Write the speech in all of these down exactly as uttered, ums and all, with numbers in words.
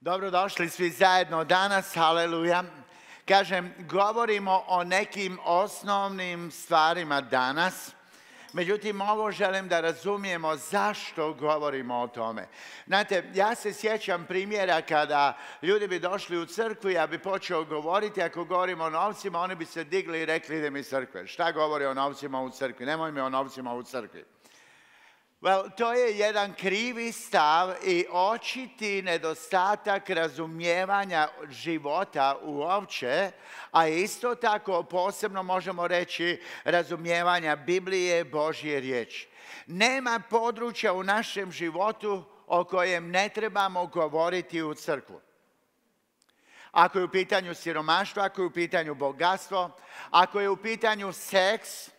Dobrodošli svi zajedno danas, haleluja. Kažem, govorimo o nekim osnovnim stvarima danas, međutim ovo želim da razumijemo zašto govorimo o tome. Znate, ja se sjećam primjera kada ljudi bi došli u crkvu, ja bi počeo govoriti, ako govorimo o novcima, oni bi se digli i rekli idem iz crkve. Šta govori o novcima u crkvi? Nemoj mi o novcima u crkvi. Well, to je jedan krivi stav i očiti nedostatak razumijevanja života uopće, a isto tako posebno možemo reći razumijevanja Biblije, Božje riječi. Nema područja u našem životu o kojem ne trebamo govoriti u crkvu. Ako je u pitanju siromaštvo, ako je u pitanju bogatstvo, ako je u pitanju seks,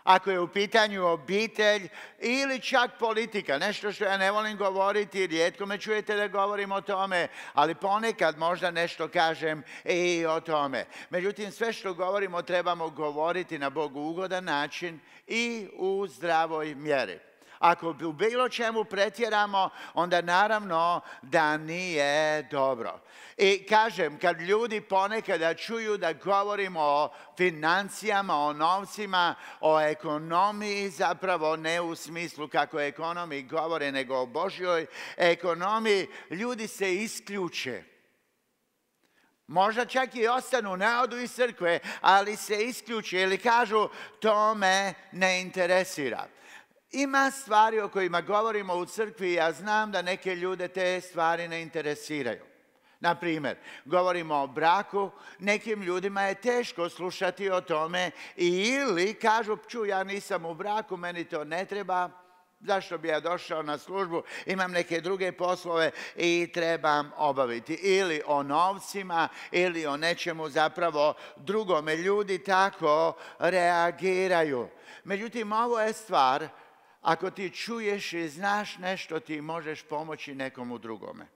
ako je u pitanju obitelj ili čak politika, nešto što ja ne volim govoriti, rijetko me čujete da govorim o tome, ali ponekad možda nešto kažem i o tome. Međutim, sve što govorimo trebamo govoriti na Bogu ugodan način i u zdravoj mjeri. Ako u bilo čemu pretjeramo, onda naravno da nije dobro. I kažem, kad ljudi ponekada čuju da govorimo o financijama, o novcima, o ekonomiji, zapravo ne u smislu kako ekonomiji govore, nego o Božjoj ekonomiji, ljudi se isključe. Možda čak i ostanu, ne odu iz crkve, ali se isključe ili kažu to me ne interesira. Ima stvari o kojima govorimo u crkvi i ja znam da neke ljude te stvari ne interesiraju. Na primjer, govorimo o braku, nekim ljudima je teško slušati o tome ili kažu, ču, ja nisam u braku, meni to ne treba, zašto bi ja došao na službu, imam neke druge poslove i trebam obaviti. Ili o novcima, ili o nečemu zapravo drugome. Ljudi tako reagiraju. Međutim, ovo je stvar, ako ti čuješ i znaš nešto, ti možeš pomoći nekomu drugome.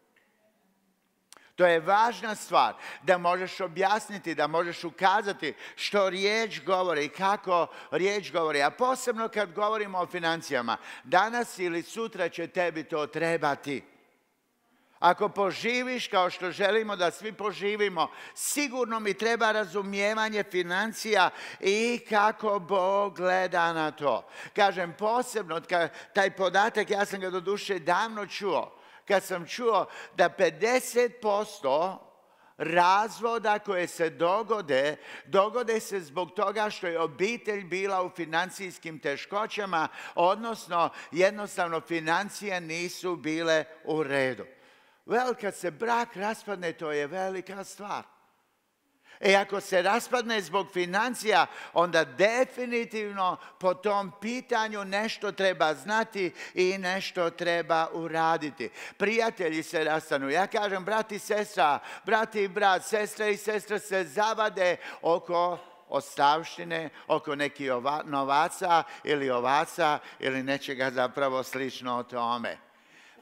To je važna stvar, da možeš objasniti, da možeš ukazati što riječ govori i kako riječ govori. A posebno kad govorimo o financijama, danas ili sutra će tebi to trebati. Ako poživiš kao što želimo da svi poživimo, sigurno mi treba razumijevanje financija i kako Bog gleda na to. Kažem posebno, taj podatak, ja sam ga doduše davno čuo, kad sam čuo da pedeset posto razvoda koje se dogode, dogode se zbog toga što je obitelj bila u financijskim teškoćama, odnosno jednostavno financije nisu bile u redu. Vel, kad se brak raspadne, to je velika stvar. E ako se raspadne zbog financija, onda definitivno po tom pitanju nešto treba znati i nešto treba uraditi. Prijatelji se rastanu. Ja kažem, brat i sestra, brat i brat, sestre i sestre se zavade oko ostavštine, oko nekih novaca ili ovaca ili nečega zapravo slično o tome.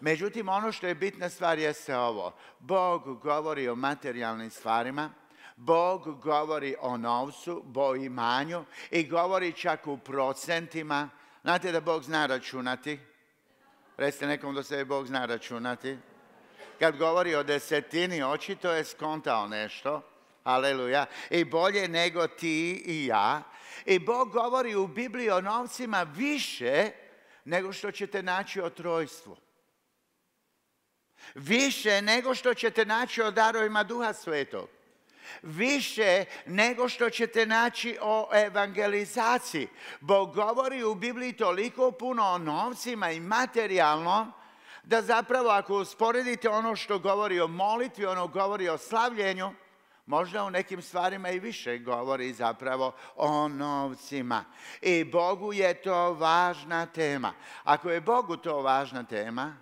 Međutim, ono što je bitna stvar jeste ovo. Bog govori o materijalnim stvarima, Bog govori o novcu, o imanju i govori čak u procentima. Znate da Bog zna računati? Recite nekom do sebe, Bog zna računati. Kad govori o desetini, očito je skontao nešto. Aleluja. I bolje nego ti i ja. I Bog govori u Bibliji o novcima više nego što ćete naći o trojstvu. Više nego što ćete naći o darovima Duha Svetog. Više nego što ćete naći o evangelizaciji. Bog govori u Bibliji toliko puno o novcima i materijalno, da zapravo ako usporedite ono što govori o molitvi, ono govori o slavljenju, možda u nekim stvarima i više govori zapravo o novcima. I Bogu je to važna tema. Ako je Bogu to važna tema,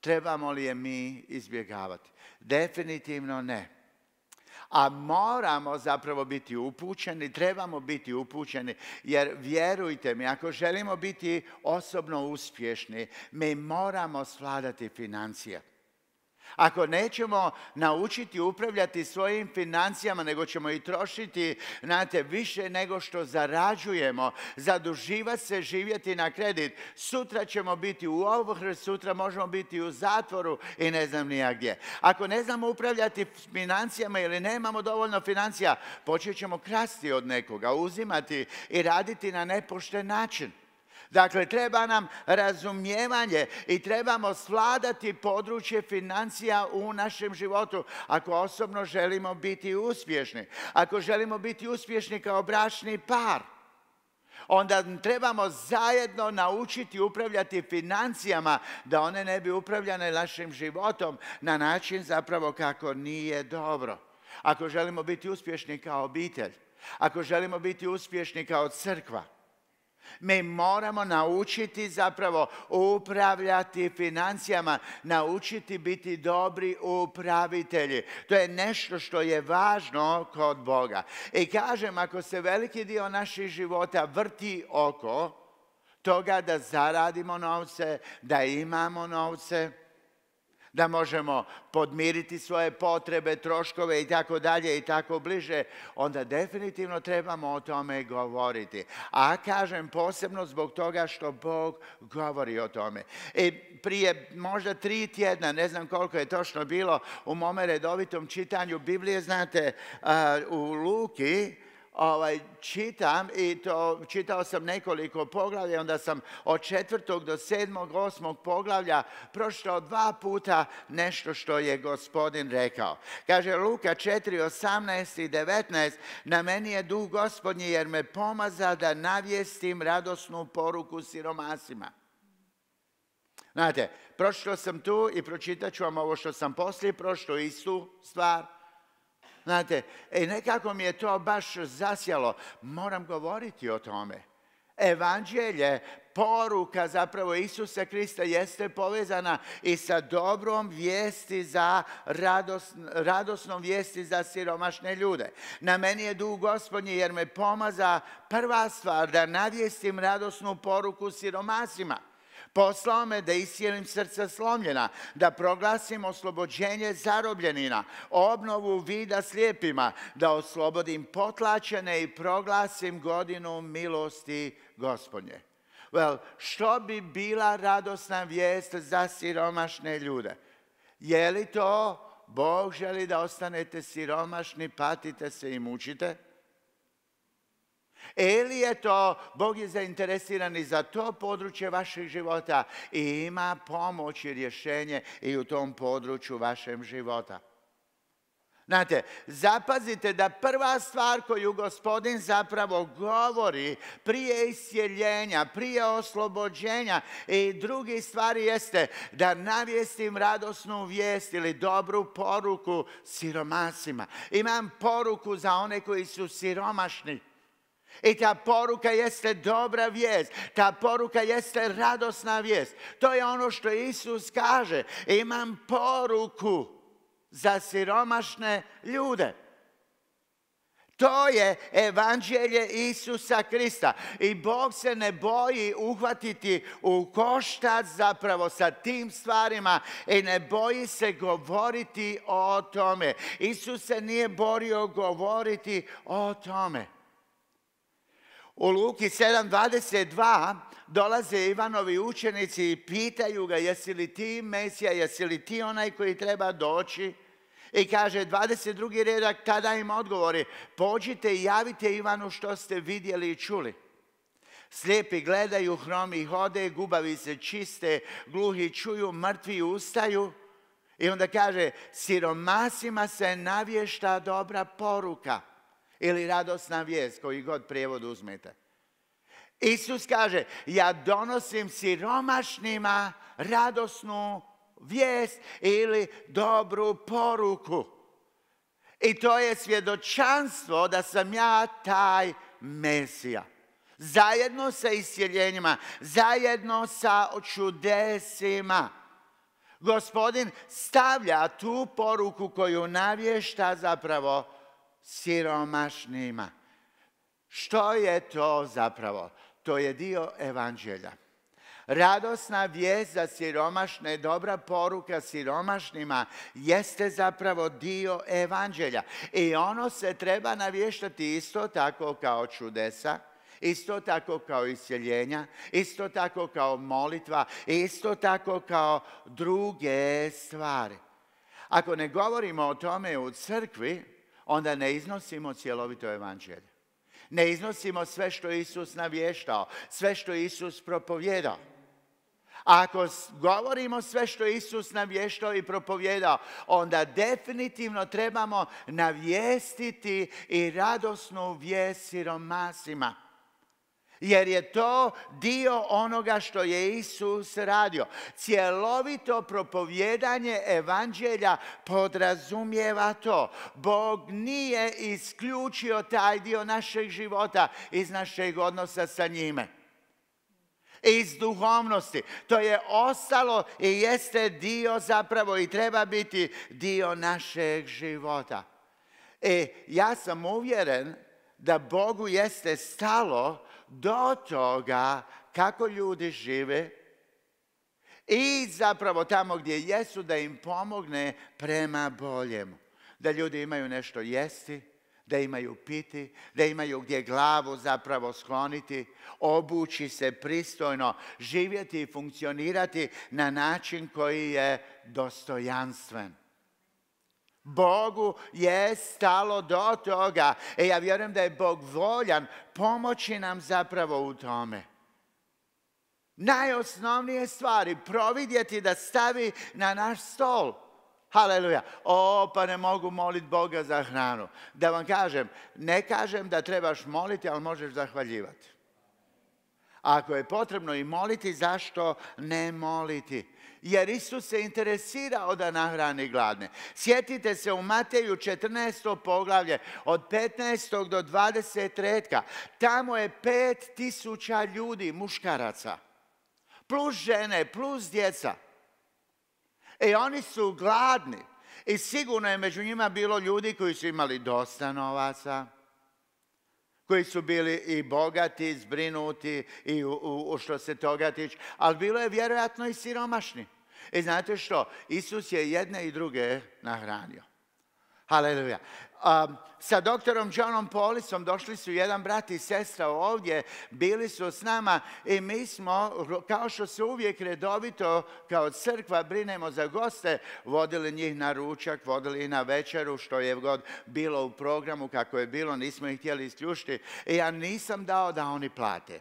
trebamo li je mi izbjegavati? Definitivno ne. A moramo zapravo biti upućeni, trebamo biti upućeni, jer vjerujte mi, ako želimo biti osobno uspješni, mi moramo svladati financije. Ako nećemo naučiti upravljati svojim financijama, nego ćemo i trošiti, znate, više nego što zarađujemo, zaduživati se, živjeti na kredit, sutra ćemo biti u ovrsi, sutra možemo biti u zatvoru i ne znam ni ja gdje. Ako ne znamo upravljati financijama ili nemamo dovoljno financija, počet ćemo krasti od nekoga, uzimati i raditi na nepošten način. Dakle, treba nam razumijevanje i trebamo svladati područje financija u našem životu ako osobno želimo biti uspješni. Ako želimo biti uspješni kao bračni par, onda trebamo zajedno naučiti upravljati financijama da one ne bi upravljane našim životom na način zapravo kako nije dobro. Ako želimo biti uspješni kao obitelj, ako želimo biti uspješni kao crkva, mi moramo naučiti zapravo upravljati financijama, naučiti biti dobri upravitelji. To je nešto što je važno kod Boga. I kažem, ako se veliki dio naših života vrti oko toga da zaradimo novce, da imamo novce, da možemo podmiriti svoje potrebe, troškove i tako dalje i tako bliže, onda definitivno trebamo o tome govoriti. A kažem posebno zbog toga što Bog govori o tome. I prije možda tri tjedna, ne znam koliko je točno bilo, u mome redovitom čitanju Biblije, znate, u Luki, Ovaj, čitam i to čitao sam nekoliko poglavlja, onda sam od četvrtog do sedmog, osmog poglavlja prošao dva puta nešto što je Gospodin rekao. Kaže Luka četiri, osamnaest i devetnaest, na meni je duh Gospodnji jer me pomaza da navijestim radosnu poruku siromasima. Znate, prošao sam tu i pročitat ću vam ovo što sam poslije prošao, istu stvar. Znate, i nekako mi je to baš zasjalo. Moram govoriti o tome. Evanđelje, poruka zapravo Isusa Krista jeste povezana i sa dobrom vijesti za rados, radosnom vijesti za siromašne ljude. Na meni je duh Gospodnji jer me pomaza, prva stvar, da navijestim radosnu poruku siromasima. Poslao me da iscijelim srca slomljena, da proglasim oslobođenje zarobljenina, obnovu vida slijepima, da oslobodim potlačene i proglasim godinu milosti Gospodnje. Well, što bi bila radosna vijest za siromašne ljude? Je li to Bog želi da ostanete siromašni, patite se i mučite? Ili je to, Bog je zainteresiran i za to područje vašeg života i ima pomoć i rješenje i u tom području vašeg života. Znate, zapazite da prva stvar koju Gospodin zapravo govori prije iscjeljenja, prije oslobođenja i drugi stvari jeste da navijestim radosnu vijest ili dobru poruku siromasima. Imam poruku za one koji su siromašni. I ta poruka jeste dobra vijest, ta poruka jeste radosna vijest. To je ono što Isus kaže. Imam poruku za siromašne ljude. To je evanđelje Isusa Krista. I Bog se ne boji uhvatiti u koštac zapravo sa tim stvarima i ne boji se govoriti o tome. Isus se nije borio govoriti o tome. U Luki sedam dvadeset dva dolaze Ivanovi učenici i pitaju ga jesi li ti Mesija, jesi li ti onaj koji treba doći? I kaže dvadeset drugi redak, tada im odgovori, pođite i javite Ivanu što ste vidjeli i čuli. Slijepi gledaju, hromi hode, gubavi se čiste, gluhi čuju, mrtvi ustaju. I onda kaže, siromasima se navješta dobra poruka. Ili radosna vijest, koji god prijevod uzmete. Isus kaže, ja donosim siromašnima radosnu vijest ili dobru poruku. I to je svjedočanstvo da sam ja taj Mesija. Zajedno sa iscjeljenjima, zajedno sa čudesima. Gospodin stavlja tu poruku koju navješta zapravo siromašnima. Što je to zapravo? To je dio evanđelja. Radosna vijest za siromašne, dobra poruka siromašnima jeste zapravo dio evanđelja. I ono se treba navještati isto tako kao čudesa, isto tako kao isceljenja, isto tako kao molitva, isto tako kao druge stvari. Ako ne govorimo o tome u crkvi, onda ne iznosimo cjelovito evanđelje. Ne iznosimo sve što je Isus navještao, sve što je Isus propovjedao. A ako govorimo sve što je Isus navještao i propovjedao, onda definitivno trebamo navijestiti i radosnu vijest siromasima. Jer je to dio onoga što je Isus radio. Cjelovito propovjedanje evanđelja podrazumijeva to. Bog nije isključio taj dio našeg života iz našeg odnosa sa njime. Iz duhovnosti. To je ostalo i jeste dio zapravo i treba biti dio našeg života. E, ja sam uvjeren da Bogu jeste stalo do toga kako ljudi žive i zapravo tamo gdje jesu da im pomogne prema boljemu. Da ljudi imaju nešto jesti, da imaju piti, da imaju gdje glavu zapravo skloniti, obući se pristojno, živjeti i funkcionirati na način koji je dostojanstven. Bogu je stalo do toga. E ja vjerujem da je Bog voljan pomoći nam zapravo u tome. Najosnovnije stvari providjeti da stavi na naš stol. Haleluja. O, pa ne mogu moliti Boga za hranu. Da vam kažem, ne kažem da trebaš moliti, ali možeš zahvaljivati. Ako je potrebno i moliti, zašto ne moliti? Jer Isus se interesirao da nahrani gladne. Sjetite se u Mateju četrnaestom poglavlje od petnaestog do dvadesetog redka. Tamo je pet tisuća ljudi, muškaraca, plus žene, plus djeca. I oni su gladni. I sigurno je među njima bilo ljudi koji su imali dosta novaca, koji su bili i bogati, zbrinuti i u, u, u što se toga tiče, ali bilo je vjerojatno i siromašni. I znate što? Isus je jedne i druge nahranio. Haleluja. Um, sa doktorom Johnom Polisom došli su jedan brat i sestra ovdje, bili su s nama i mi smo, kao što se uvijek redovito kao crkva brinemo za goste, vodili njih na ručak, vodili ih na večeru, što je god bilo u programu, kako je bilo, nismo ih htjeli isključiti. I ja nisam dao da oni plate.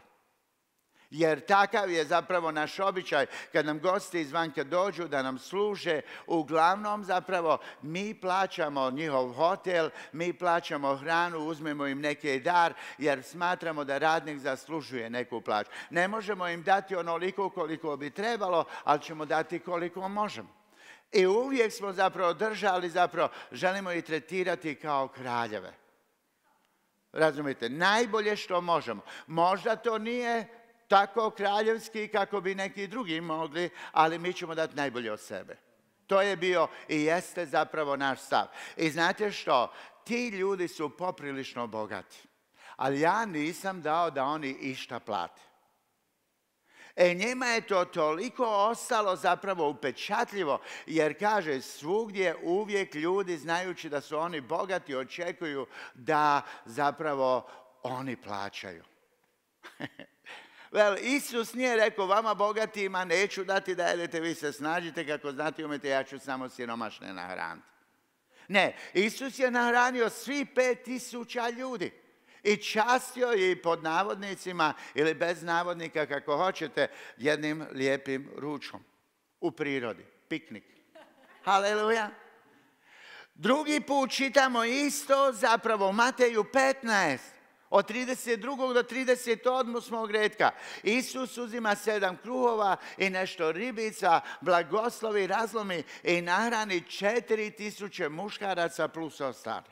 Jer takav je zapravo naš običaj kad nam gosti izvanka dođu da nam služe. Uglavnom zapravo mi plaćamo njihov hotel, mi plaćamo hranu, uzmemo im neki dar jer smatramo da radnik zaslužuje neku plaću. Ne možemo im dati onoliko koliko bi trebalo, ali ćemo dati koliko možemo. I uvijek smo zapravo držali, zapravo želimo ih tretirati kao kraljeve. Razumite, najbolje što možemo. Možda to nije tako kraljevski kako bi neki drugi mogli, ali mi ćemo dati najbolje od sebe. To je bio i jeste zapravo naš stav. I znate što? Ti ljudi su poprilično bogati. Ali ja nisam dao da oni išta plate. E njima je to toliko ostalo zapravo upečatljivo, jer kaže svugdje uvijek ljudi znajući da su oni bogati očekuju da zapravo oni plaćaju. Vel, Isus nije rekao vama bogatima neću dati da jedete, vi se snažite kako znate umete, ja ću samo siromašne nahraniti. Ne, Isus je nahranio svi pet tisuća ljudi i častio je pod navodnicima ili bez navodnika kako hoćete jednim lijepim ručkom u prirodi, piknik. Haleluja. Drugi put čitamo isto zapravo u Mateju petnaest. Od trideset drugog do trideset osmog redka. Isus uzima sedam kruhova i nešto ribica, blagoslovi, razlomi i nahrani četiri tisuće muškaraca plus ostali.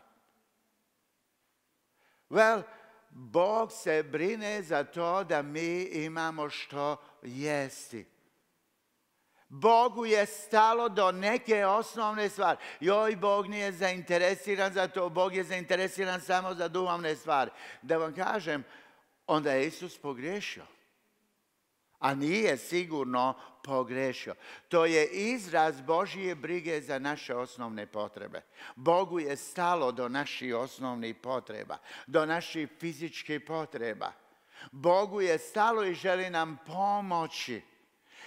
Well, Bog se brine za to da mi imamo što jesti. Bogu je stalo do neke osnovne stvari. Joj, Bog nije zainteresiran za to, Bog je zainteresiran samo za duhovne stvari. Da vam kažem, onda je Isus pogriješio. a nije sigurno pogrešio. To je izraz Božje brige za naše osnovne potrebe. Bogu je stalo do naših osnovnih potreba, do naših fizičkih potreba. Bogu je stalo i želi nam pomoći.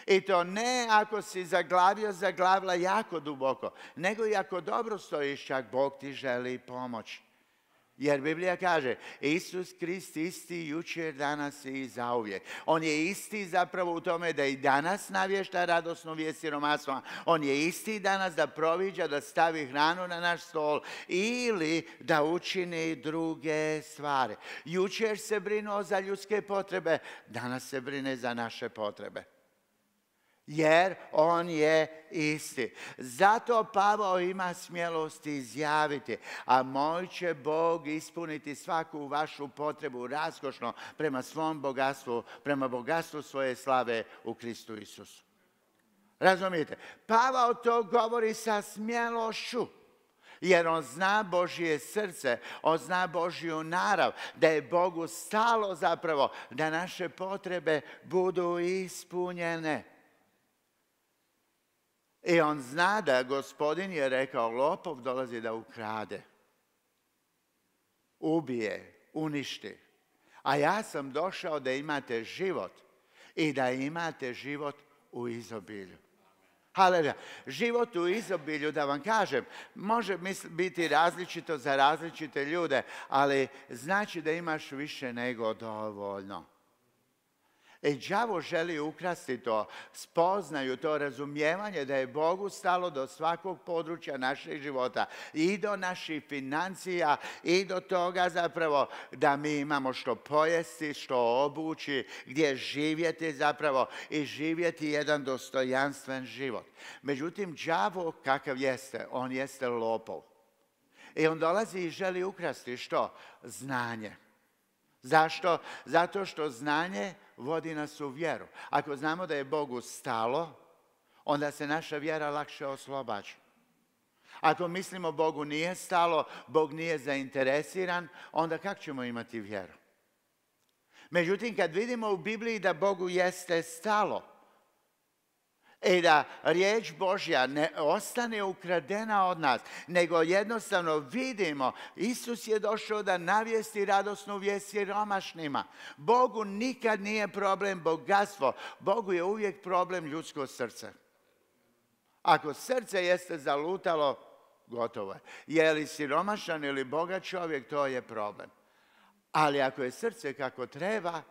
I to ne ako si zaglavio, zaglavila jako duboko, nego i ako dobro stojiš, čak Bog ti želi pomoći. Jer Biblija kaže, Isus Krist isti jučer, danas i zauvijek. On je isti zapravo u tome da i danas navješta radosnu vijest siromaštva. On je isti danas da proviđa, da stavi hranu na naš stol ili da učini druge stvari. Jučer se brinuo za ljudske potrebe, danas se brine za naše potrebe. Jer on je isti. Zato Pavao ima smjelosti izjaviti, a moj će Bog ispuniti svaku vašu potrebu raskošno prema svom bogatstvu, prema bogatstvu svoje slave u Kristu Isusu. Razumijete? Pavao to govori sa smjelošću. Jer on zna Božje srce, on zna Božju narav, da je Bogu stalo zapravo da naše potrebe budu ispunjene. I on zna da Gospodin je rekao, lopov dolazi da ukrade, ubije, uništi. A ja sam došao da imate život i da imate život u izobilju. Haleluja. Život u izobilju, da vam kažem, može biti različito za različite ljude, ali znači da imaš više nego dovoljno. I đavo želi ukrasti to, spoznaju to razumijevanje da je Bogu stalo do svakog područja našeg života i do naših financija i do toga zapravo da mi imamo što pojesti, što obući, gdje živjeti zapravo i živjeti jedan dostojanstven život. Međutim, đavo kakav jeste, on jeste lopov. I on dolazi i želi ukrasti što? Znanje. Zašto? Zato što znanje vodi nas u vjeru. Ako znamo da je Bogu stalo, onda se naša vjera lakše oslobađa. Ako mislimo Bogu nije stalo, Bog nije zainteresiran, onda kako ćemo imati vjeru? Međutim, kad vidimo u Bibliji da Bogu jeste stalo i da riječ Božja ne ostane ukradena od nas, nego jednostavno vidimo, Isus je došao da navijesti radosnu vijest siromašnima. Bogu nikad nije problem bogatstvo, Bogu je uvijek problem ljudsko srce. Ako srce jeste zalutalo, gotovo je. Je li siromašan ili bogat čovjek, to je problem. Ali ako je srce kako treba,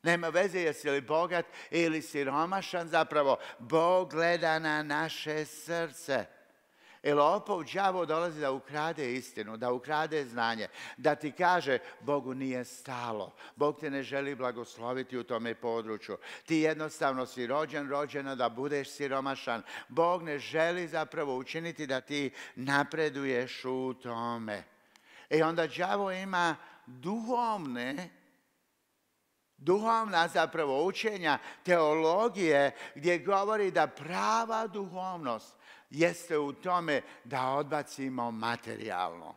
nema veze jesi li bogat ili siromašan, zapravo Bog gleda na naše srce. I lopov, đavo dolazi da ukrade istinu, da ukrade znanje, da ti kaže Bogu nije stalo. Bog te ne želi blagosloviti u tome području. Ti jednostavno si rođen, rođena da budeš siromašan. Bog ne želi zapravo učiniti da ti napreduješ u tome. I onda đavo ima duhovne Duhovna zapravo učenja, teologije, gdje govori da prava duhovnost jeste u tome da odbacimo materijalno.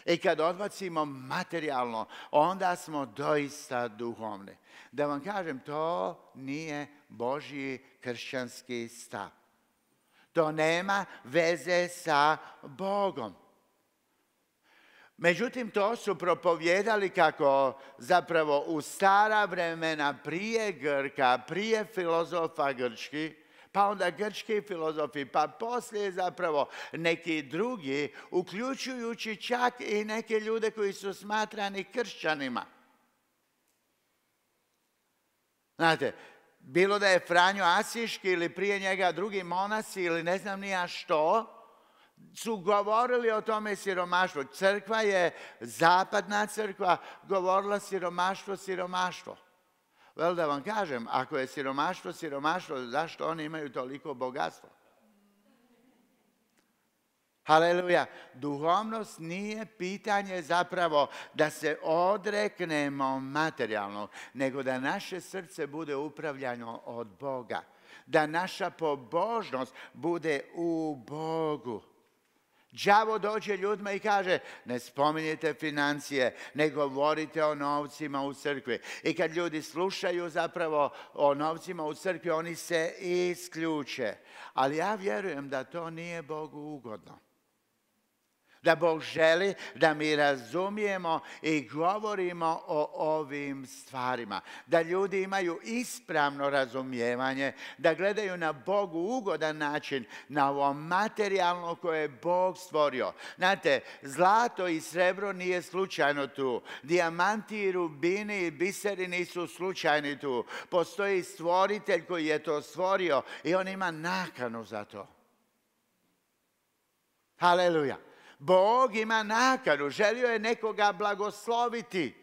I kad odbacimo materijalno, onda smo doista duhovni. Da vam kažem, to nije Božji kršćanski stav. To nema veze sa Bogom. Međutim, to su propovijedali kako zapravo u stara vremena prije Grka, prije filozofa grčki, pa onda grčki filozofi, pa poslije zapravo neki drugi, uključujući čak i neke ljude koji su smatrani kršćanima. Znate, bilo da je Franjo Asiški ili prije njega drugi monasi ili ne znam ni ja što, su govorili o tome siromaštvu. Crkva je, zapadna crkva, govorila siromaštvo, siromaštvo. Vel da vam kažem, ako je siromaštvo, siromaštvo, zašto oni imaju toliko bogatstvo? Haleluja. Duhovnost nije pitanje zapravo da se odreknemo materijalno, nego da naše srce bude upravljano od Boga. Da naša pobožnost bude u Bogu. Đavo dođe ljudima i kaže, ne spominjete financije, ne govorite o novcima u crkvi. I kad ljudi slušaju zapravo o novcima u crkvi, oni se isključe. Ali ja vjerujem da to nije Bogu ugodno. Da Bog želi da mi razumijemo i govorimo o ovim stvarima. Da ljudi imaju ispravno razumijevanje, da gledaju na Bogu ugodan način, na ovo materijalno koje je Bog stvorio. Znate, zlato i srebro nije slučajno tu. Dijamanti i rubini i biseri nisu slučajni tu. Postoji stvoritelj koji je to stvorio i on ima nakanu za to. Haleluja. Bog ima nakanu, želio je nekoga blagosloviti.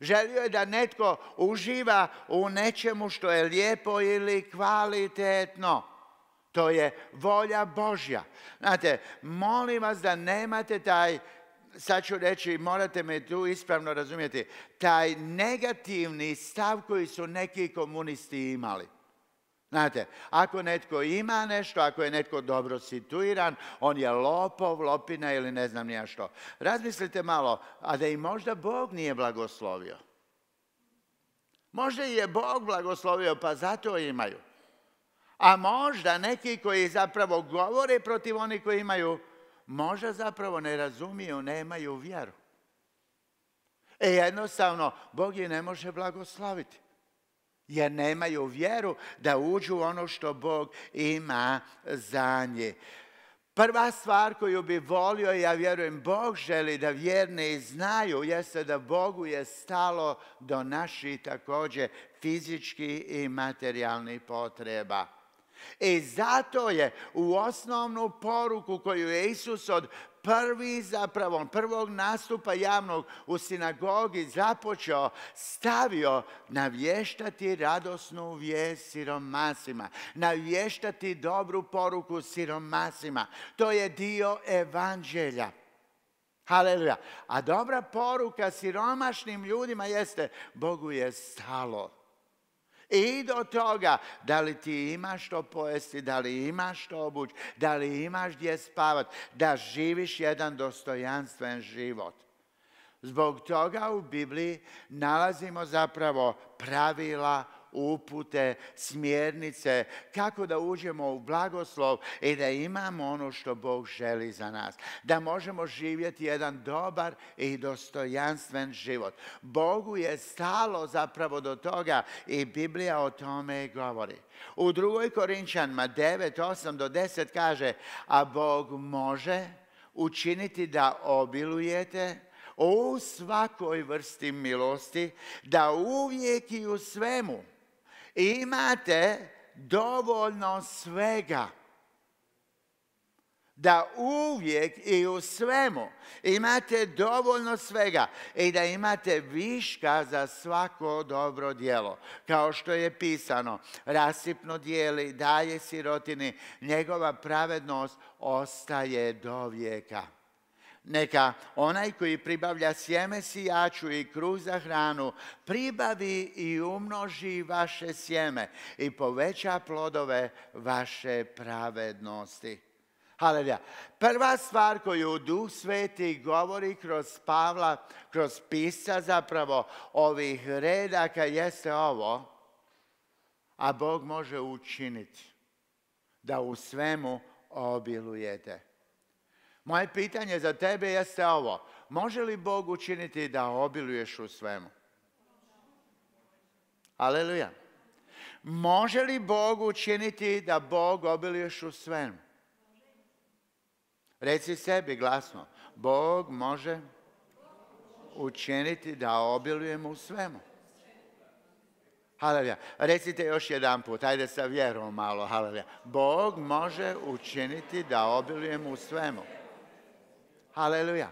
Želio je da netko uživa u nečemu što je lijepo ili kvalitetno. To je volja Božja. Znate, molim vas da nemate taj, sad ću reći, morate me tu ispravno razumjeti, taj negativni stav koji su neki komunisti imali. Znate, ako netko ima nešto, ako je netko dobro situiran, on je lopov, lopina ili ne znam nija što. Razmislite malo, a da i možda Bog nije blagoslovio. Možda je Bog blagoslovio, pa zato imaju. A možda neki koji zapravo govore protiv onih koji imaju, možda zapravo ne razumiju, nemaju vjeru. E jednostavno, Bog je ne može blagosloviti. Jer nemaju vjeru da uđu u ono što Bog ima za nje. Prva stvar koju bi volio, ja vjerujem Bog želi da vjerni znaju, jeste da Bogu je stalo do naših također fizičkih i materijalnih potreba. I zato je u osnovnu poruku koju je Isus od prvi zapravo, prvog nastupa javnog u sinagogi započeo, stavio navještati radosnu vijest siromasima, navještati dobru poruku siromasima. To je dio evanđelja. Haleluja. A dobra poruka siromašnim ljudima jeste, Bogu je stalo. I do toga, da li ti imaš što pojesti, da li imaš što obući, da li imaš gdje spavati, da živiš jedan dostojanstven život. Zbog toga u Bibliji nalazimo zapravo pravila, upute, smjernice, kako da uđemo u blagoslov i da imamo ono što Bog želi za nas. Da možemo živjeti jedan dobar i dostojanstven život. Bogu je stalo zapravo do toga i Biblija o tome govori. U drugoj Korinčanima devet, osam do deset kaže, a Bog može učiniti da obilujete u svakoj vrsti milosti, da uvijek i u svemu imate dovoljno svega. Da uvijek i u svemu imate dovoljno svega i da imate viška za svako dobro djelo. Kao što je pisano, rasipno dijeli, daje sirotini, njegova pravednost ostaje do vijeka. Neka onaj koji pribavlja sjeme sijaču i kruh za hranu, pribavi i umnoži vaše sjeme i poveća plodove vaše pravednosti. Haleluja. Prva stvar koju Duh Sveti govori kroz Pavla, kroz pisca zapravo ovih redaka jeste ovo, a Bog može učiniti da u svemu obilujete. Moje pitanje za tebe jeste ovo. Može li Bog učiniti da obiluješ u svemu? Aleluja. Može li Bog učiniti da Bog obiluješ u svemu? Reci sebi glasno. Bog može učiniti da obilujemo u svemu. Haleluja. Recite još jedan put. Ajde sa vjerom malo. Haleluja. Bog može učiniti da obilujemo u svemu. Haleluja.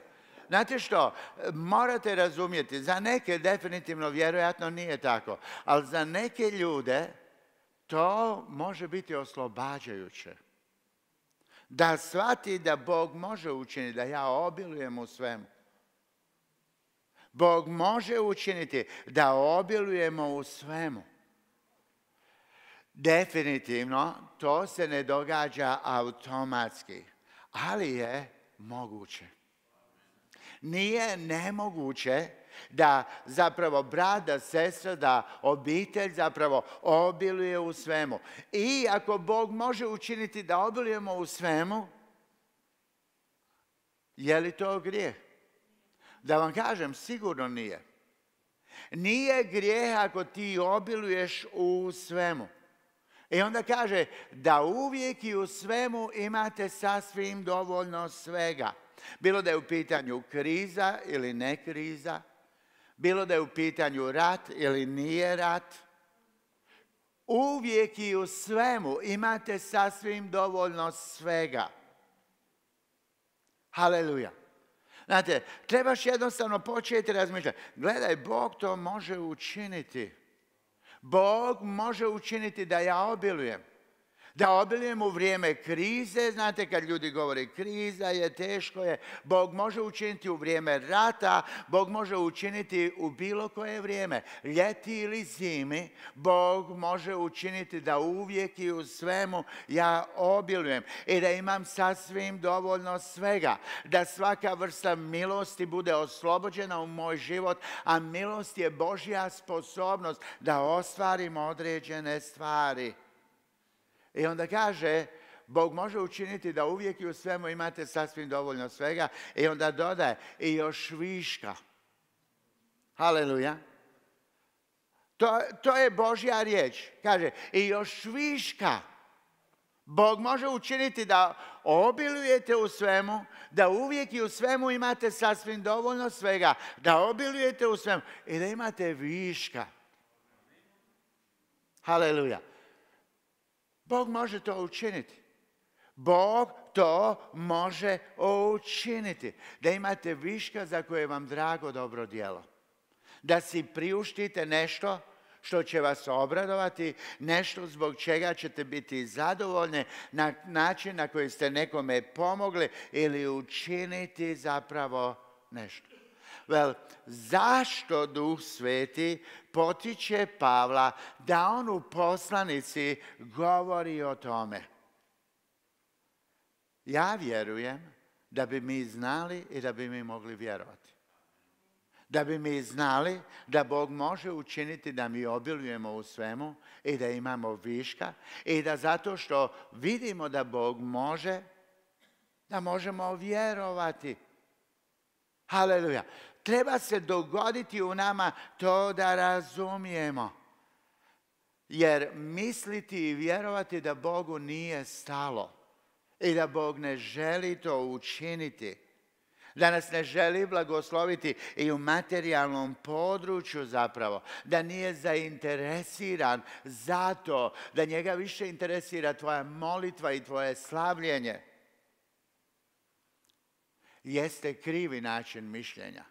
Znate što, morate razumjeti, za neke definitivno vjerojatno nije tako, ali za neke ljude to može biti oslobađajuće. Da shvati da Bog može učiniti, da ja obilujem u svemu. Bog može učiniti da obilujemo u svemu. Definitivno to se ne događa automatski, ali je moguće. Nije nemoguće da zapravo brat, da sestra, da obitelj zapravo obiluje u svemu. I ako Bog može učiniti da obilujemo u svemu, je li to grijeh? Da vam kažem, sigurno nije. Nije grijeh ako ti obiluješ u svemu. I onda kaže da uvijek i u svemu imate sasvim dovoljno svega. Bilo da je u pitanju kriza ili ne kriza, bilo da je u pitanju rat ili nije rat, uvijek i u svemu imate sasvim dovoljno svega. Haleluja. Znate, trebaš jednostavno početi razmišljati. Gledaj, Bog to može učiniti. Bog može učiniti da ja obilujem. Da obilujem u vrijeme krize, znate kad ljudi govore kriza je, teško je, Bog može učiniti u vrijeme rata, Bog može učiniti u bilo koje vrijeme, ljeti ili zimi, Bog može učiniti da uvijek i u svemu ja obilujem i da imam sasvim dovoljno svega, da svaka vrsta milosti bude oslobođena u moj život, a milost je Božja sposobnost da ostvarim određene stvari. I onda kaže, Bog može učiniti da uvijek i u svemu imate sasvim dovoljno svega. I onda dodaje, i još viška. Haleluja. To, to je Božja riječ. Kaže, i još viška. Bog može učiniti da obilujete u svemu, da uvijek i u svemu imate sasvim dovoljno svega, da obilujete u svemu i da imate viška. Haleluja. Bog može to učiniti. Bog to može učiniti. Da imate viška za koje vam drago dobro djelo. Da si priuštite nešto što će vas obradovati, nešto zbog čega ćete biti zadovoljni, na način na koji ste nekome pomogli ili učiniti zapravo nešto. Well, zašto Duh Sveti potiče Pavla da on u poslanici govori o tome? Ja vjerujem da bi mi znali i da bi mi mogli vjerovati. Da bi mi znali da Bog može učiniti da mi obilujemo u svemu i da imamo viška i da zato što vidimo da Bog može, da možemo vjerovati. Haleluja. Treba se dogoditi u nama to da razumijemo. Jer misliti i vjerovati da Bogu nije stalo i da Bog ne želi to učiniti, da nas ne želi blagosloviti i u materijalnom području zapravo, da nije zainteresiran za to, da njega više interesira tvoja molitva i tvoje slavljenje, jeste krivi način mišljenja.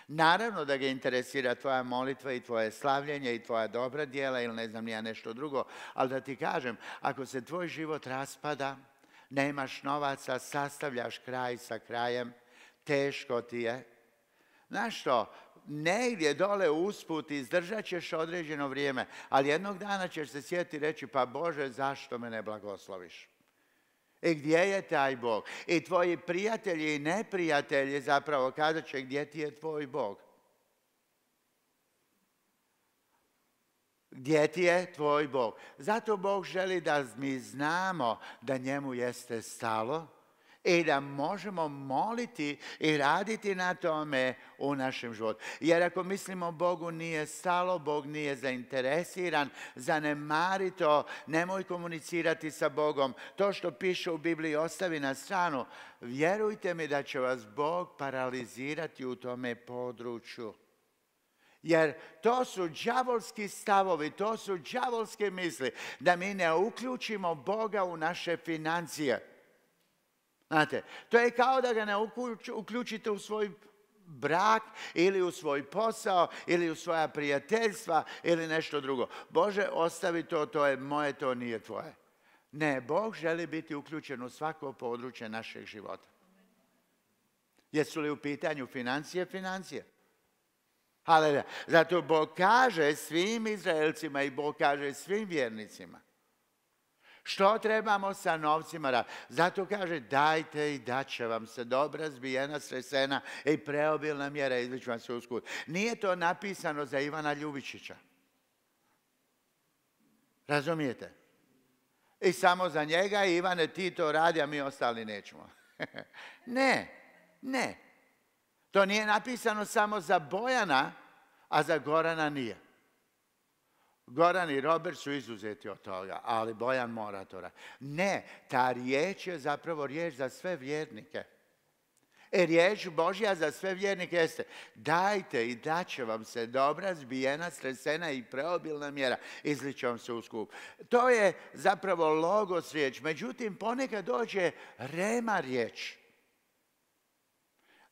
Naravno da ga interesira tvoja molitva i tvoje slavljenje i tvoja dobra djela ili ne znam ni ja nešto drugo, ali da ti kažem, ako se tvoj život raspada, nemaš novaca, sastavljaš kraj sa krajem, teško ti je. Znaš što, negdje dole usput izdržat ćeš određeno vrijeme, ali jednog dana ćeš se sjetiti i reći, pa Bože, zašto me ne blagosloviš? I gdje je taj Bog? I tvoji prijatelji i neprijatelji zapravo kazat će gdje ti je tvoj Bog. Gdje ti je tvoj Bog? Zato Bog želi da mi znamo da njemu jeste stalo i da možemo moliti i raditi na tome u našem životu. Jer ako mislimo Bogu nije stalo, Bog nije zainteresiran, zanemari to, nemoj komunicirati sa Bogom. To što piše u Bibliji ostavi na stranu. Vjerujte mi da će vas Bog paralizirati u tome području. Jer to su đavolski stavovi, to su đavolske misli, da mi ne uključimo Boga u naše financije. Znate, to je kao da ga ne uključite u svoj brak ili u svoj posao ili u svoja prijateljstva ili nešto drugo. Bože, ostavi to, to je moje, to nije tvoje. Ne, Bog želi biti uključen u svako područje našeg života. Jesu li u pitanju financije? Financije. Haleluja. Zato Bog kaže svim Izraelcima i Bog kaže svim vjernicima. Što trebamo sa novcima raditi? Zato kaže, dajte i dat će vam se dobra, zbijena, sresena i preobilna mjera, izliču vam se uskut. Nije to napisano za Ivana Ljubičića. Razumijete? I samo za njega, Ivane, ti to radi, a mi ostali nećemo. Ne, ne. To nije napisano samo za Bojana, a za Gorana nije. Goran i Robert su izuzeti od toga, ali Bojan mora to raditi. Ne, ta riječ je zapravo riječ za sve vjernike. E, riječ Božja za sve vjernike jeste: dajte i dat će vam se dobra, zbijena, stresena i preobilna mjera, izliče vam se u skup. To je zapravo logos riječ, međutim ponekad dođe rema riječ.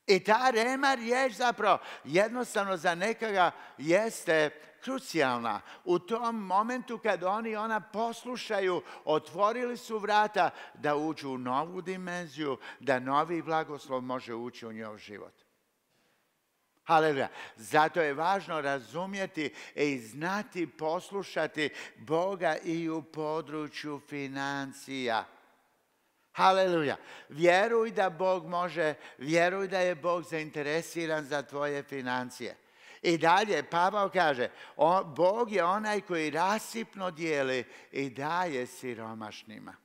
I ta rema riječ zapravo jednostavno za nekoga jeste krucijalna. U tom momentu kad oni ona poslušaju, otvorili su vrata da uđu u novu dimenziju, da novi blagoslov može ući u njihov život. Haleluja. Zato je važno razumjeti i znati poslušati Boga i u području financija. Haleluja. Vjeruj da Bog može, vjeruj da je Bog zainteresiran za tvoje financije. I dalje, Pavao kaže, on, Bog je onaj koji rasipno dijeli i daje siromašnima.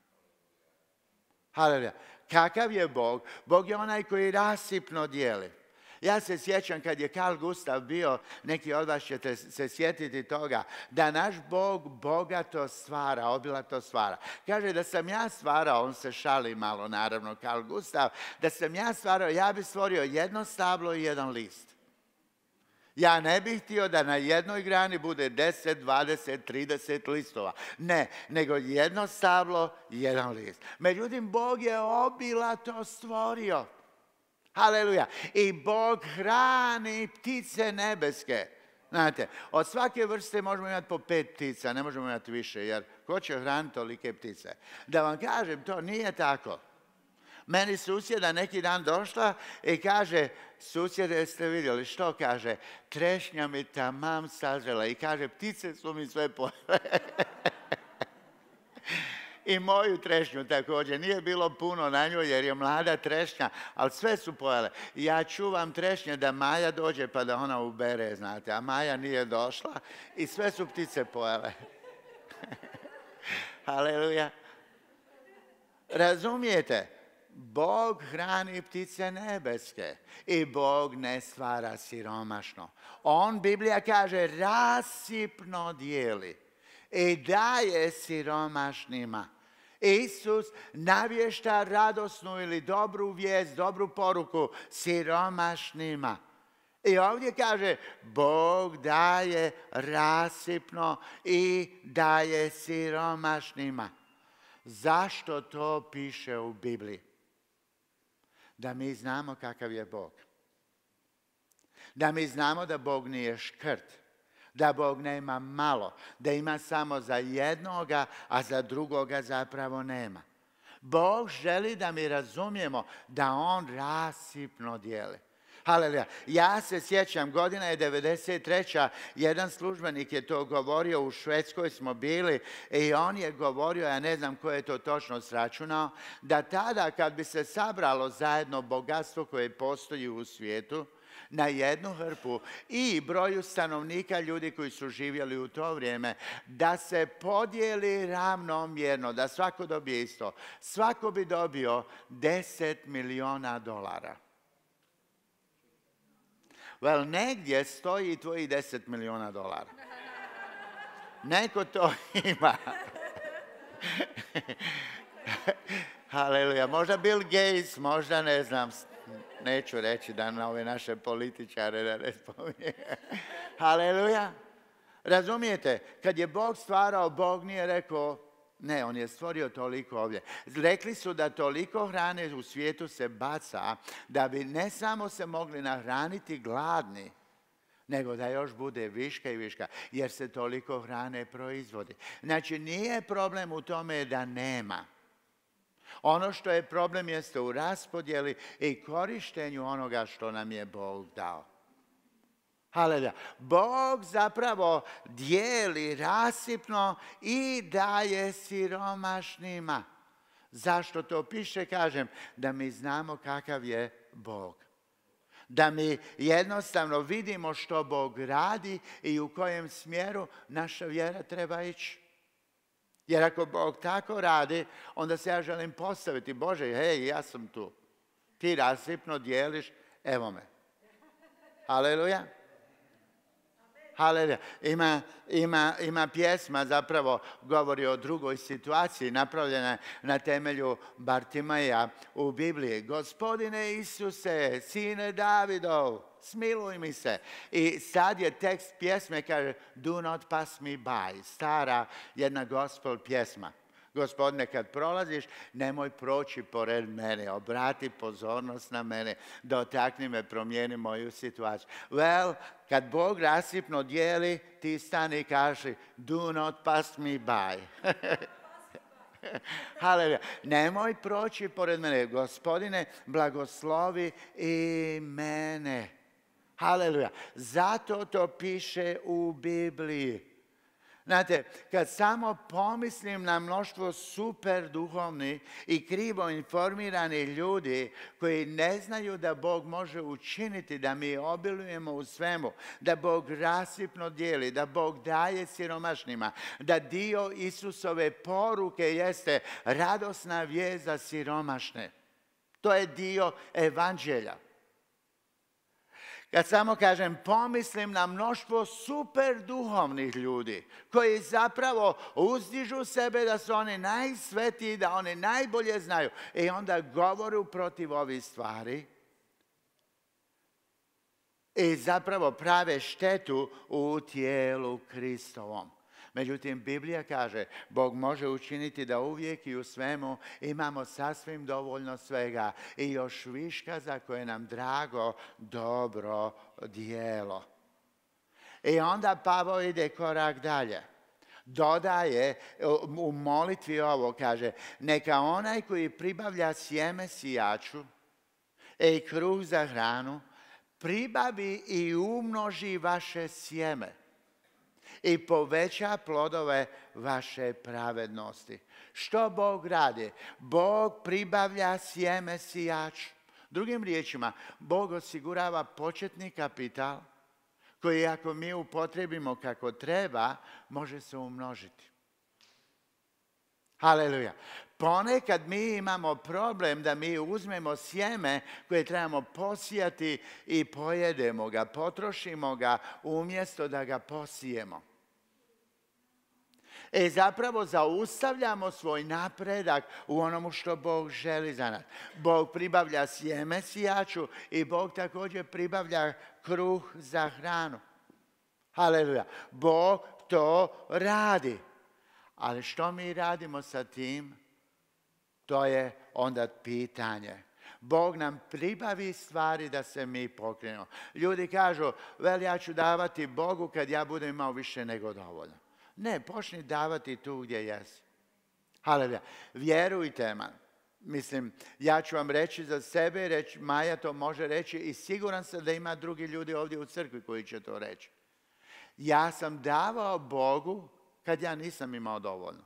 Haleluja. Kakav je Bog? Bog je onaj koji rasipno dijeli. Ja se sjećam kad je Carl Gustav bio, neki od vas ćete se sjetiti toga, da naš Bog bogato stvara, obilato stvara. Kaže da sam ja stvarao, on se šali malo naravno, Carl Gustav, da sam ja stvarao, ja bi stvorio jedno stablo i jedan list. Ja ne bih htio da na jednoj grani bude deset, dvadeset, trideset listova. Ne, nego jedno stablo i jedan list. Međutim, Bog je obilato stvorio. Haleluja. I Bog hrani ptice nebeske. Znate, od svake vrste možemo imati po pet ptica, ne možemo imati više, jer ko će hraniti tolike ptice? Da vam kažem, to nije tako. Meni susjeda neki dan došla i kaže, susjede, jeste vidjeli, što kaže? Trešnja mi tamam sazrela i kaže, ptice su mi sve pojele. I moju trešnju također. Nije bilo puno na njoj jer je mlada trešnja, ali sve su pojele. Ja čuvam trešnje da Maja dođe pa da ona ubere, znate. A Maja nije došla i sve su ptice pojele. Haleluja. Razumijete? Bog hrani ptice nebeske i Bog ne stvara siromašno. On, Biblija kaže, rasipno dijeli i daje siromašnima. Isus navješta radosnu ili dobru vijest, dobru poruku siromašnima. I ovdje kaže, Bog daje rasipno i daje siromašnima. Zašto to piše u Bibliji? Da mi znamo kakav je Bog. Da mi znamo da Bog nije škrt. Da Bog nema malo. Da ima samo za jednoga, a za drugoga zapravo nema. Bog želi da mi razumijemo da On rasipno dijeli. Haleluja. Ja se sjećam, godina je devedeset treća jedan službenik je to govorio, u Švedskoj smo bili i on je govorio, ja ne znam ko je to točno sračunao, da tada kad bi se sabralo zajedno bogatstvo koje postoji u svijetu, na jednu hrpu i broju stanovnika ljudi koji su živjeli u to vrijeme, da se podijeli ravnomjerno, da svako dobije isto. Svako bi dobio deset milijuna dolara. Well, negdje stoji tvoji deset milijuna dolara. Neko to ima. Haleluja. Možda Bill Gates, možda ne znam, neću reći da na ove naše političare da ne spominje. Haleluja. Razumijete, kad je Bog stvarao, Bog nije rekao, ne, on je stvorio toliko ovdje. Rekli su da toliko hrane u svijetu se baca, da bi ne samo se mogli nahraniti gladni, nego da još bude viška i viška, jer se toliko hrane proizvodi. Znači, nije problem u tome da nema. Ono što je problem jeste u raspodjeli i korištenju onoga što nam je Bog dao. Haleluja. Bog zapravo dijeli rasipno i daje siromašnima. Zašto to piše? Kažem, da mi znamo kakav je Bog. Da mi jednostavno vidimo što Bog radi i u kojem smjeru naša vjera treba ići. Jer ako Bog tako radi, onda se ja želim postaviti. Bože, hej, ja sam tu. Ti rasipno dijeliš, evo me. Haleluja. Haleluja. Ima, ima, ima pjesma, zapravo govori o drugoj situaciji, napravljena na temelju Bartimaja u Bibliji. Gospodine Isuse, sine Davidov, smiluj mi se. I sad je tekst pjesme, kaže, do not pass me by. Stara jedna gospel pjesma. Gospodine, kad prolaziš, nemoj proći pored mene, obrati pozornost na mene, dotakni me, promijeni moju situaciju. Well, kad Bog rasipno dijeli, ti stani i kaži, do not pass me by. Haleluja. Nemoj proći pored mene, Gospodine, blagoslovi i mene. Haleluja. Zato to piše u Bibliji. Znate, kad samo pomislim na mnoštvo super duhovni i krivo informirani ljudi koji ne znaju da Bog može učiniti, da mi obilujemo u svemu, da Bog rasipno dijeli, da Bog daje siromašnima, da dio Isusove poruke jeste radosna vijest za siromašne. To je dio evanđelja. Kad samo kažem, pomislim na mnoštvo super duhovnih ljudi koji zapravo uzdižu sebe da su oni najsvetiji, da oni najbolje znaju i onda govoru protiv ovih stvari i zapravo prave štetu u tijelu Kristovom. Međutim, Biblija kaže, Bog može učiniti da uvijek i u svemu imamo sasvim dovoljno svega i još viška za koje nam drago dobro djelo. I onda Pavao ide korak dalje. Dodaje u molitvi ovo, kaže, neka onaj koji pribavlja sjeme sijaču i kruh za hranu, pribavi i umnoži vaše sjeme i poveća plodove vaše pravednosti. Što Bog radi? Bog pribavlja sjeme sijaču. Drugim riječima, Bog osigurava početni kapital koji ako mi upotrijebimo kako treba, može se umnožiti. Haleluja. Ponekad mi imamo problem da mi uzmemo sjeme koje trebamo posijati i pojedemo ga, potrošimo ga umjesto da ga posijemo. E zapravo zaustavljamo svoj napredak u onomu što Bog želi za nas. Bog pribavlja sjeme sijaču i Bog također pribavlja kruh za hranu. Haleluja. Bog to radi. Ali što mi radimo sa tim? To je onda pitanje. Bog nam pribavi stvari da se mi pokrenemo. Ljudi kažu, vel ja ću davati Bogu kad ja budem imao više nego dovoljno. Ne, počni davati tu gdje jesi. Haleluja. Vjerujte me. Mislim, ja ću vam reći za sebe, reći, Maja to može reći i siguran sam da ima drugi ljudi ovdje u crkvi koji će to reći. Ja sam davao Bogu kad ja nisam imao dovoljno.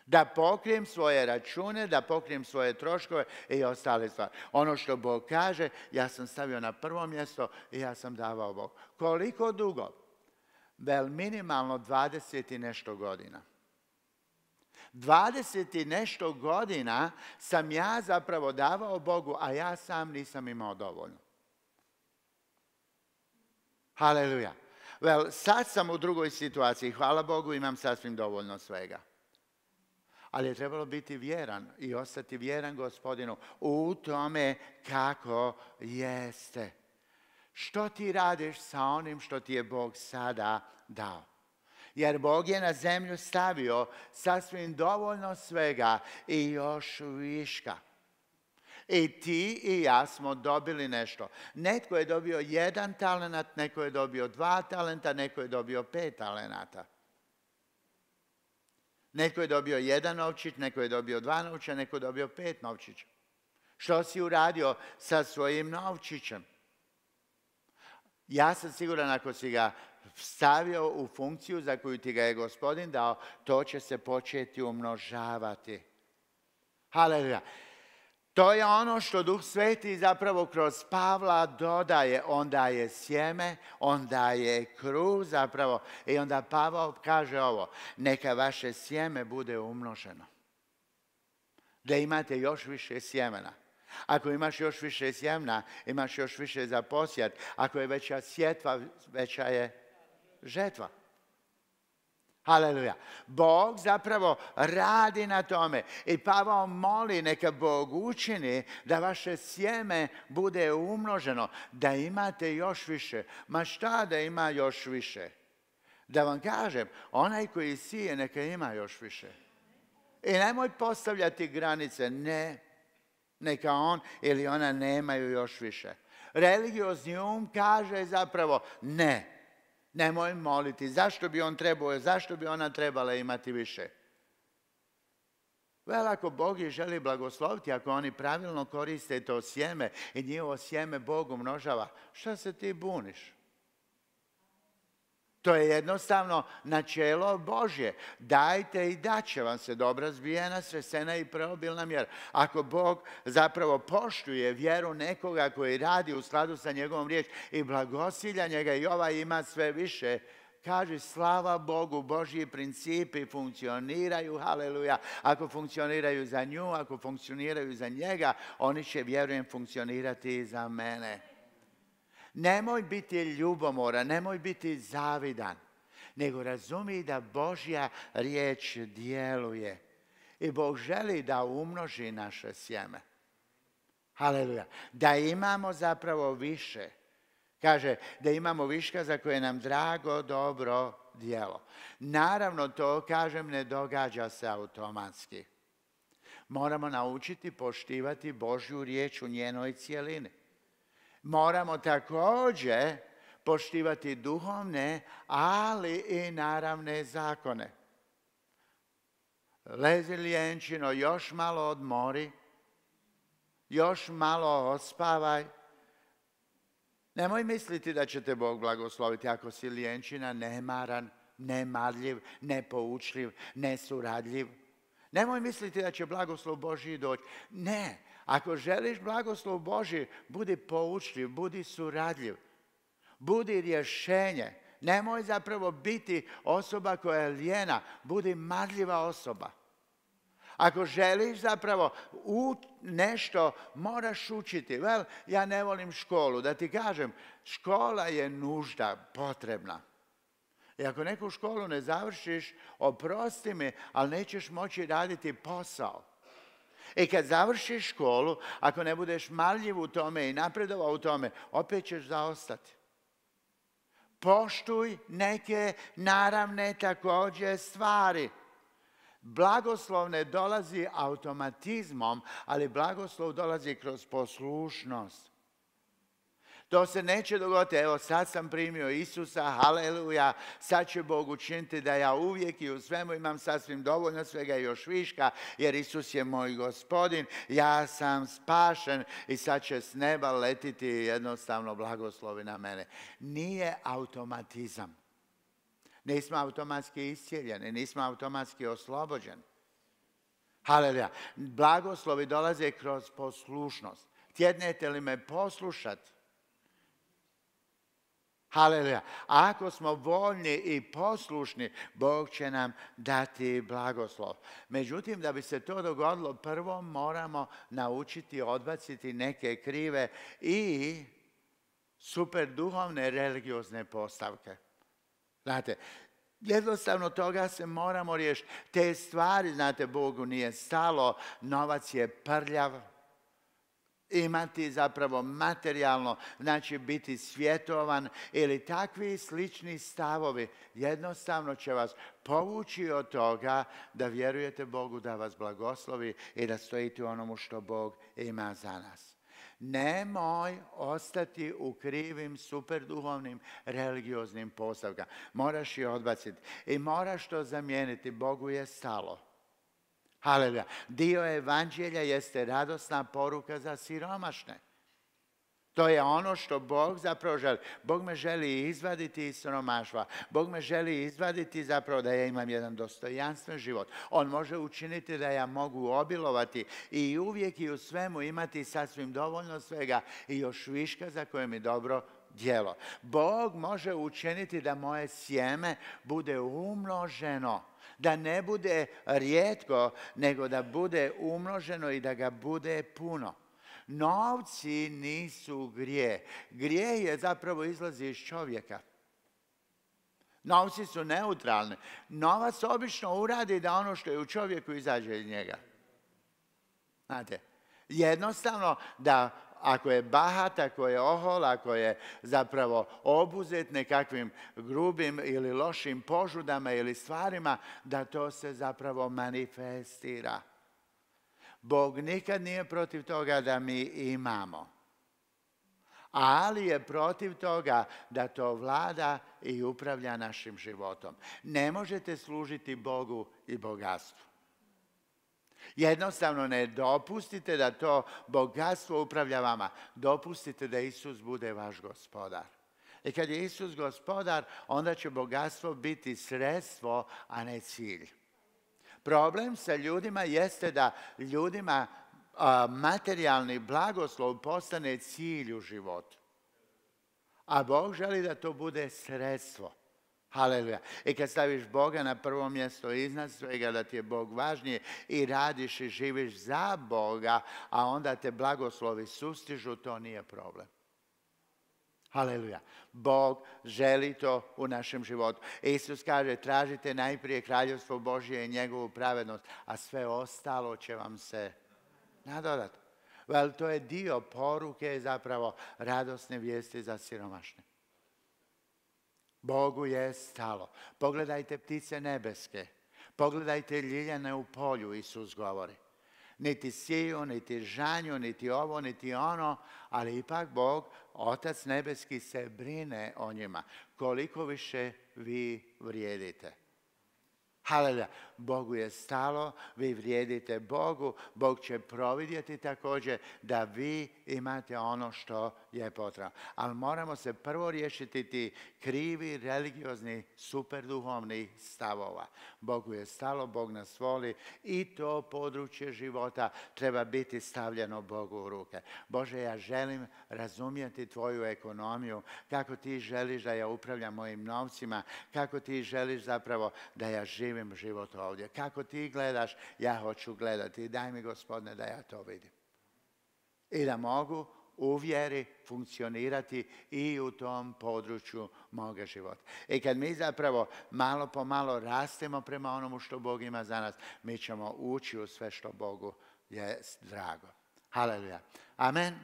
Da pokrijem svoje račune, da pokrijem svoje troškove i ostale stvari. Ono što Bog kaže, ja sam stavio na prvo mjesto i ja sam davao Bogu. Koliko dugo? Vel minimalno dvadeset i nešto godina. Dvadeset i nešto godina sam ja zapravo davao Bogu, a ja sam nisam imao dovoljno. Haleluja. Vel, sad sam u drugoj situaciji. Hvala Bogu, imam sasvim dovoljno svega. Ali je trebalo biti vjeran i ostati vjeran Gospodinu u tome kako jeste. Što ti radiš sa onim što ti je Bog sada dao? Jer Bog je na zemlju stavio sasvim dovoljno svega i još viška. I ti i ja smo dobili nešto. Netko je dobio jedan talenat, neko je dobio dva talenta, neko je dobio pet talenata. Neko je dobio jedan novčić, neko je dobio dva novčića, neko je dobio pet novčića. Što si uradio sa svojim novčićem? Ja sam siguran ako si ga stavio u funkciju za koju ti ga je Gospodin dao, to će se početi umnožavati. Haleluja. To je ono što Duh Sveti zapravo kroz Pavla dodaje. On daje sjeme, on daje kruh zapravo. I onda Pavao kaže ovo, neka vaše sjeme bude umnoženo. Da imate još više sjemena. Ako imaš još više sjemena, imaš još više za posjat. Ako je veća sjetva, veća je žetva. Haleluja. Bog zapravo radi na tome. I Pavao moli neka Bog učini da vaše sjeme bude umnoženo. Da imate još više. Ma šta da ima još više? Da vam kažem, onaj koji sije neka ima još više. I nemoj postavljati granice. Ne. Neka on ili ona nemaju još više. Religiozni um kaže zapravo ne. Nemoj moliti. Zašto bi on trebao, zašto bi ona trebala imati više? Vel, ako Bog ih želi blagosloviti, ako oni pravilno koriste to sjeme i njihovo sjeme Bog umnožava, šta se ti buniš? To je jednostavno načelo Božje. Dajte i daće vam se dobra zbijena, sresena i preobilna mjera. Ako Bog zapravo poštuje vjeru nekoga koji radi u skladu sa njegovom riječ i blagosilja njega i ovaj ima sve više, kaže slava Bogu, Božji principi funkcioniraju, haleluja. Ako funkcioniraju za nju, ako funkcioniraju za njega, oni će, vjerujem, funkcionirati i za mene. Nemoj biti ljubomoran, nemoj biti zavidan, nego razumi da Božja riječ djeluje. I Bog želi da umnoži naše sjeme. Haleluja. Da imamo zapravo više. Kaže da imamo viška za koje nam drago, dobro djelo. Naravno to, kažem, ne događa se automatski. Moramo naučiti poštivati Božju riječ u njenoj cijelini. Moramo također poštivati duhovne, ali i naravne zakone. Lezi lijenčino, još malo odmori, još malo ospavaj. Nemoj misliti da će te Bog blagosloviti ako si lijenčina, nemaran, nemarljiv, nepoučljiv, nesuradljiv. Nemoj misliti da će blagoslov Božji doći. Ne. Ako želiš blagoslov Božji, budi poučljiv, budi suradljiv, budi rješenje. Nemoj zapravo biti osoba koja je lijena, budi marljiva osoba. Ako želiš zapravo u nešto, moraš učiti. Vel, ja ne volim školu. Da ti kažem, škola je nužda, potrebna. I ako neku školu ne završiš, oprosti mi, ali nećeš moći raditi posao. I kad završiš školu, ako ne budeš marljiv u tome i napredovao u tome, opet ćeš zaostati. Poštuj neke naravne također stvari. Blagoslov ne dolazi automatizmom, ali blagoslov dolazi kroz poslušnost. To se neće dogoditi, evo sad sam primio Isusa, haleluja, sad će Bog učiniti da ja uvijek i u svemu imam sasvim dovoljno svega i još viška, jer Isus je moj Gospodin, ja sam spašen i sad će s neba letiti jednostavno blagoslovi na mene. Nije automatizam. Nismo automatski iscijeljeni, nismo automatski oslobođeni. Haleluja. Blagoslovi dolaze kroz poslušnost. Tjednete li me poslušati? Haleluja. Ako smo voljni i poslušni, Bog će nam dati blagoslov. Međutim, da bi se to dogodilo, prvo moramo naučiti odbaciti neke krive i super duhovne religiozne postavke. Znate, jednostavno toga se moramo riješiti. Te stvari, znate, Bogu nije stalo, novac je prljav. Imati zapravo materijalno, znači biti svjetovan ili takvi slični stavovi jednostavno će vas povući od toga da vjerujete Bogu da vas blagoslovi i da stojite u onomu što Bog ima za nas. Nemoj ostati u krivim, superduhovnim, religioznim postavkama. Moraš ih odbaciti i moraš to zamijeniti. Bogu je stalo. Haleluja. Dio evanđelja jeste radosna poruka za siromašne. To je ono što Bog zapravo želi. Bog me želi izvaditi iz siromaštva. Bog me želi izvaditi zapravo da ja imam jedan dostojanstven život. On može učiniti da ja mogu obilovati i uvijek i u svemu imati sasvim dovoljno svega i još viška za koje mi dobro djelo. Bog može učiniti da moje sjeme bude umnoženo. Da ne bude rijetko, nego da bude umnoženo i da ga bude puno. Novci nisu grijeh. Grijeh je zapravo izlazi iz čovjeka. Novci su neutralni. Novac obično uradi da ono što je u čovjeku izađe iz njega. Znate, jednostavno da ako je bahat, ako je ohol, ako je zapravo obuzet nekakvim grubim ili lošim požudama ili stvarima, da to se zapravo manifestira. Bog nikad nije protiv toga da mi imamo, ali je protiv toga da to vlada i upravlja našim životom. Ne možete služiti Bogu i bogatstvu. Jednostavno ne dopustite da to bogatstvo upravlja vama. Dopustite da Isus bude vaš gospodar. I kad je Isus gospodar, onda će bogatstvo biti sredstvo, a ne cilj. Problem sa ljudima jeste da ljudima a, materijalni blagoslov postane cilj u životu. A Bog želi da to bude sredstvo. Haleluja. I kad staviš Boga na prvo mjesto iznad svega, da ti je Bog važnije i radiš i živiš za Boga, a onda te blagoslovi sustižu, to nije problem. Haleluja. Bog želi to u našem životu. Isus kaže, tražite najprije kraljevstvo Božje i njegovu pravednost, a sve ostalo će vam se nadodati. Vel, to je dio poruke zapravo radosne vijesti za siromašne. Bogu je stalo. Pogledajte ptice nebeske. Pogledajte ljiljane u polju, Isus govori. Niti siju, niti žanju, niti ovo, niti ono, ali ipak Bog, Otac nebeski, se brine o njima. Koliko više vi vrijedite. Haleluja. Bogu je stalo, vi vrijedite Bogu, Bog će providjeti također da vi imate ono što je potrebno. Ali moramo se prvo riješiti ti krivi, religiozni, superduhovni stavova. Bogu je stalo, Bog nas voli i to područje života treba biti stavljeno Bogu u ruke. Bože, ja želim razumjeti tvoju ekonomiju, kako ti želiš da ja upravljam mojim novcima, kako ti želiš zapravo da ja živim život ovdje. Kako ti gledaš, ja hoću gledati. Daj mi, Gospodine, da ja to vidim. I da mogu u vjeri funkcionirati i u tom području moga života. I kad mi zapravo malo po malo rastemo prema onomu što Bog ima za nas, mi ćemo ući u sve što Bogu je drago. Haleluja. Amen.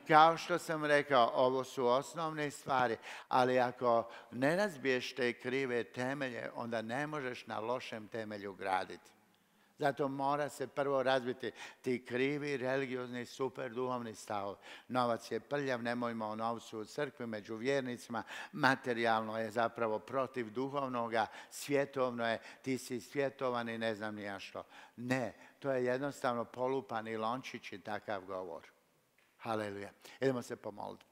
Kao što sam rekao, ovo su osnovne stvari, ali ako ne razbiješ te krive temelje, onda ne možeš na lošem temelju graditi. Zato mora se prvo razbiti ti krivi, religiozni, super duhovni stavovi. Novac je prljav, nemojmo o novcu u crkvi, među vjernicima. Materijalno je zapravo protiv duhovnoga, svjetovno je, ti si svjetovan i ne znam ni ja što. Ne, to je jednostavno polupani lončić i takav govor. Haleluja. Idemo se pomoliti.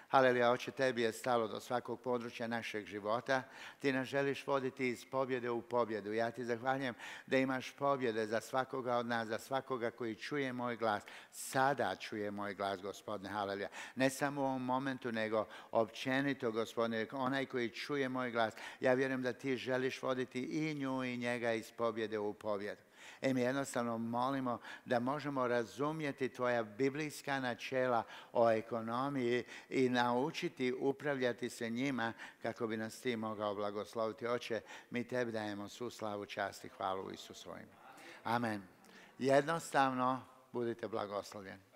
Haleluja, Oče, tebi je stalo do svakog područja našeg života. Ti nas želiš voditi iz pobjede u pobjedu. Ja ti zahvaljujem da imaš pobjede za svakoga od nas, za svakoga koji čuje moj glas. Sada čuje moj glas, Gospodine, haleluja. Ne samo u ovom momentu, nego općenito, Gospodine, onaj koji čuje moj glas. Ja vjerujem da ti želiš voditi i nju i njega iz pobjede u pobjedu. I mi jednostavno molimo da možemo razumjeti tvoja biblijska načela o ekonomiji i naučiti upravljati se njima kako bi nas ti mogao blagosloviti. Oče, mi tebi dajemo svu slavu, čast i hvalu u Isusu svojim. Amen. Jednostavno budite blagoslovljeni.